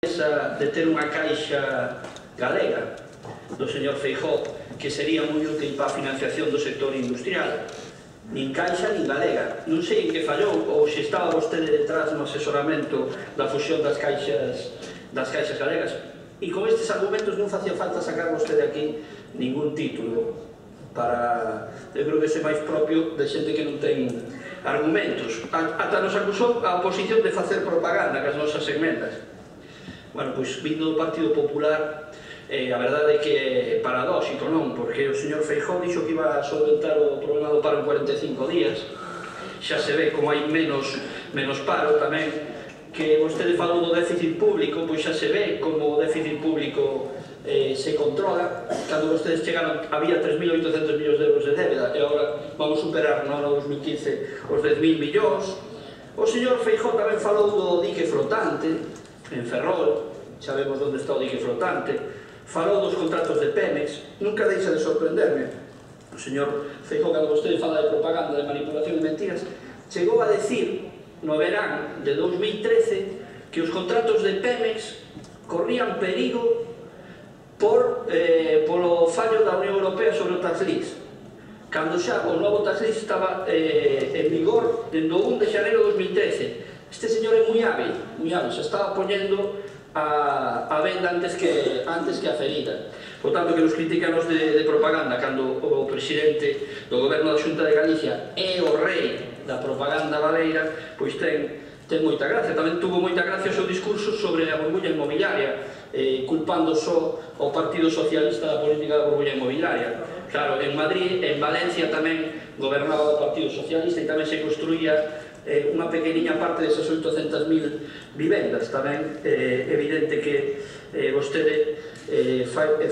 de ter unha caixa galega do señor Feijóo que sería moi útil para a financiación do sector industrial. Nin caixa nin galega. Non sei en que fallou ou se estaba vostede detrás no asesoramento da fusión das caixas galegas. E con estes argumentos non facía falta sacar vostede aquí ningún título para... Eu creo que ese máis propio de xente que non ten argumentos. Ata nos acusou a oposición de facer propaganda cas nosas emendas. Bueno, pois, vindo do Partido Popular, a verdade é que é paradóxico, non? Porque o señor Feijóo dixo que iba a solventar o problema do paro en 45 días. Xa se ve como hai menos paro tamén. Que vostede falou do déficit público, pois xa se ve como o déficit público se controla. Cando vostedes chegaron había 3.800 millóns de euros de débeda e agora vamos superar no ano 2015 os 10.000 millóns. O señor Feijóo tamén falou do dique flotante en Ferrol, sabemos onde está o dique flotante, falou dos contratos de Pemex. Nunca deixa de sorprenderme o señor Feijóo, cando vostede fala de propaganda, de manipulación de mentiras, chegou a decir no verán de 2013 que os contratos de Pemex corrían perigo polo fallo da Unión Europea sobre o tax lease, cando xa o novo tax lease estaba en vigor dende o 1 de xaneiro de 2013. Este señor é moi hábil, se estaba poñendo a venda antes que a ferida. Por tanto, que nos criticanos de propaganda cando o presidente do goberno da Xunta de Galicia é o rei da propaganda baleira, pois ten moita gracia. Tamén tuvo moita gracia o seu discurso sobre a burbulla inmobiliaria, culpando só ao Partido Socialista da política da burbulla inmobiliaria. Claro, en Madrid, en Valencia tamén gobernaba o Partido Socialista e tamén se construía unha pequeniña parte desas 800.000 vivendas. Tamén é evidente que vostede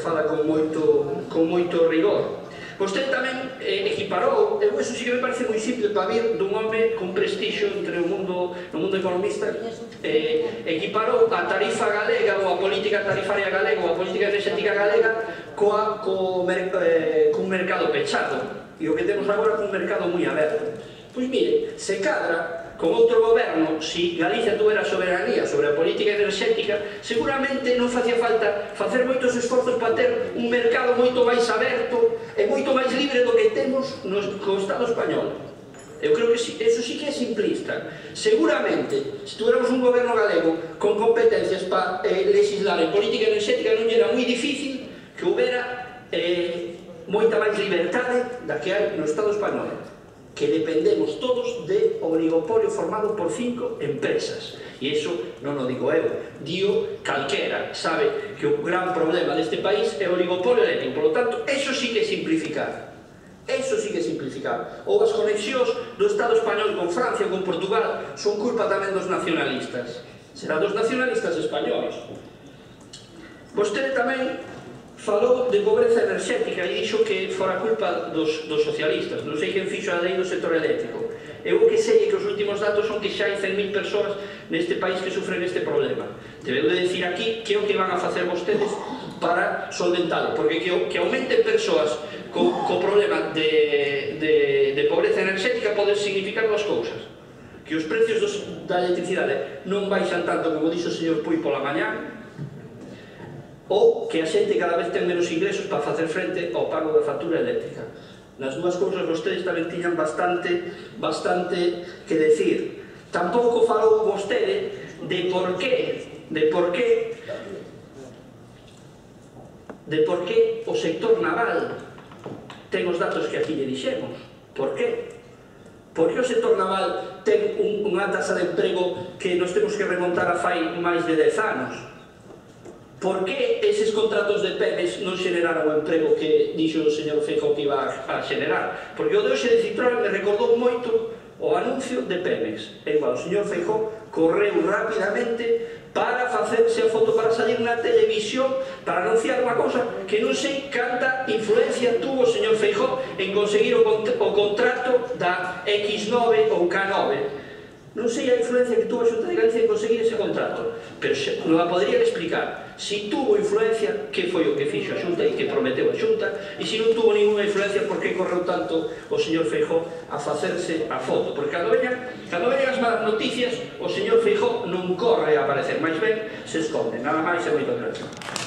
fala con moito rigor. Vostede tamén equiparou, eso sí que me parece moi simple para vir dun home con prestixio entre no mundo economista, equiparou a tarifa galega ou a política tarifaria galega ou a política enerxética galega cun mercado pechado, e o que temos agora cun mercado moi aberto. Pois mire, se cadra con outro goberno, se Galicia tuvera soberanía sobre a política enerxética, seguramente non facía falta facer moitos esforzos para ter un mercado moito máis aberto e moito máis libre do que temos no Estado español. Eu creo que eso sí que é simplista. Seguramente, se tuviéramos un goberno galego con competencias para legislar en política enerxética, non era moi difícil que houbera moita máis liberdade da que hai no Estado español, que dependemos todos de oligopolio formado por 5 empresas. E iso non o digo eu, dio calquera. Sabe que o gran problema deste país é o oligopolio eléctrico. Por lo tanto, eso sí que é simplificar. Eso sí que é simplificar. Ou as conexións do Estado español con Francia ou con Portugal son culpa tamén dos nacionalistas. Será dos nacionalistas españoles. Vostede tamén falou de pobreza enerxética e dixo que fora culpa dos socialistas. Non sei quen fixo a lei do sector eléctrico. Eu o que sei é que os últimos datos son que xa hai 100.000 persoas neste país que sufren este problema. Debeu de decir aquí que é o que van a facer vostedes para solventalo, porque que aumenten persoas co problema de pobreza enerxética pode significar dúas cousas: que os precios da electricidade non baixan tanto como dixo o señor Puy pola mañá, ou que a xente cada vez ten menos ingresos para facer frente ao pago da factura eléctrica. Nas dúas cousas vostedes tamén tiñan bastante que decir. Tampouco falou vostede de por qué o sector naval ten os datos que aquí lle dixemos. Por qué? Por que o sector naval ten unha tasa de emprego que nos temos que remontar a fai máis de 10 anos? Por que eses contratos de Pemex non xeneraron o emprego que dixo o señor Feijóo que iba a xenerar? Porque o de hoxe de Citroën me recordou moito o anuncio de Pemex. E igual, o señor Feijóo correu rapidamente para facerse a foto, para salir na televisión, para anunciar unha cousa que non sei canta influencia tuvo o señor Feijóo en conseguir o contrato da X9 ou K9. Non sei a influencia que tuvo a Xunta de Galicia en conseguir ese contrato, pero non a poderían explicar. Si tuvo influencia, que foi o que fixo a Xunta e que prometeu a Xunta, e se non tuvo ninguna influencia, por que correu tanto o señor Feijóo a facerse a foto? Porque cando veñan as malas noticias, o señor Feijóo non corre a aparecer, máis ben se esconde. Nada máis e moitas gracias.